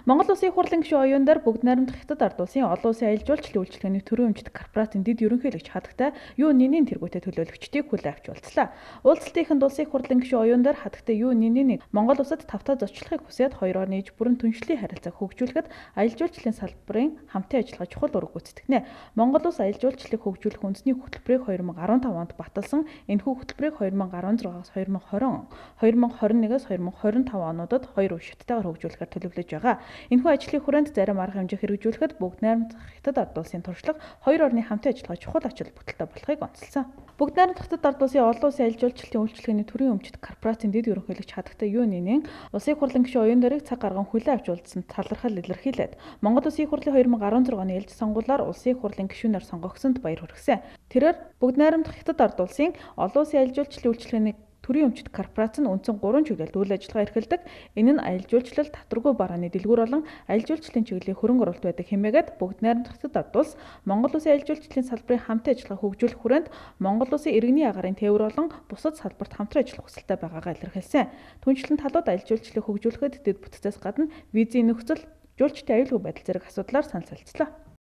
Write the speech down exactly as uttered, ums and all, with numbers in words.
Монгол Улсын их хурлын гишүүн оюундар бүгд найрамдах Хятад ард улсын олон улсын аялал жуулчлалын үйлчилгээний төрийн өмчт корпорацийн дэд ерөнхийлөгч хатагтай юу нинийн тэргүүтэй төлөөлөгчдийг хүлээн авч уулзлаа. Уулзалтын эхэнд улсын их хурлын гишүүн оюундар хатагтай юу нинийн Монгол улсад тавтаа зочлохыг хүсээд хоёр орны иж бүрэн түншлэлийн харилцааг хөгжүүлэхэд аялал жуулчлалын салбарын хамтын ажиллагаа чухал үүрэг гүйцэтгэнэ. Монгол улс аялал жуулчлалыг хөгжүүлэх үндэсний хөтөлбөрийг хоёр мянга арван тав онд баталсан. Энэхүү хөтөлбөрийг хоёр мянга арван зургаас хоёр мянга хорин он, хоёр мянга хорин нэгээс хоёр мянга хорин тав онуудад хоёр үе шаттайгаар хөгжүүлэхээр төлөвлөж байгаа. Энэхүү ажлын хүрээнд зарим арга хэмжээ хэрэгжүүлэхэд бүгд найрамдах Хятад ард улсын туршлага хоёр орны хамтын ажиллагаа чухал ачаал бүтэлтэй болохыг онцолсон. Бүгд найрамдах Хятад ард улсын олон улсын аялал жуулчлалын үйлчилгээний төрийн өмчт корпорацийн дэд ерөнхийлөгч хатагтай юу нинийн улсын их хурлын гишүүн оюундарыг цаг гарган хүлээн авч уулзсан талархал илэрхийлээд Монгол Улсын их хурлын хоёр мянга арван зург оны ээлж сонгуулиар улсын их хурлын гишүүнээр сонгогдсонд баяр хүргэсэн. Тэрээр бүгд найрамдах Хятад ард улсын олон улсын аялал жуулчлалын үйлчилгээний төрийн өмчт корпорац нь үндсэн гурван чиглэлд үйл ажиллагаа эрхэлдэг. Энэ нь аялал жуулчлал, татваргүй барааны дэлгүүр болон аялал жуулчлалын чиглэлийн хөрөнгө оруулалт байдаг хэмээгээд бүгд найрамдах Хятад ард улс Монгол Улсын аялал жуулчлалын салбарын хамтын ажиллагаа хөгжүүлэх хүрээнд Монгол Улсын иргэний агаарын тээвэр болон бусад салбарт хамтран ажиллах хүсэлтэй байгаагаа илэрхийлсэн. Түүнчлэн талууд аялал жуулчлалыг хөгжүүлэхэд дэд бүтцээс гадна визийн нөхцөл, жуулчдын аюулгүй байдал зэрэг асуудлаар санал солилцлоо.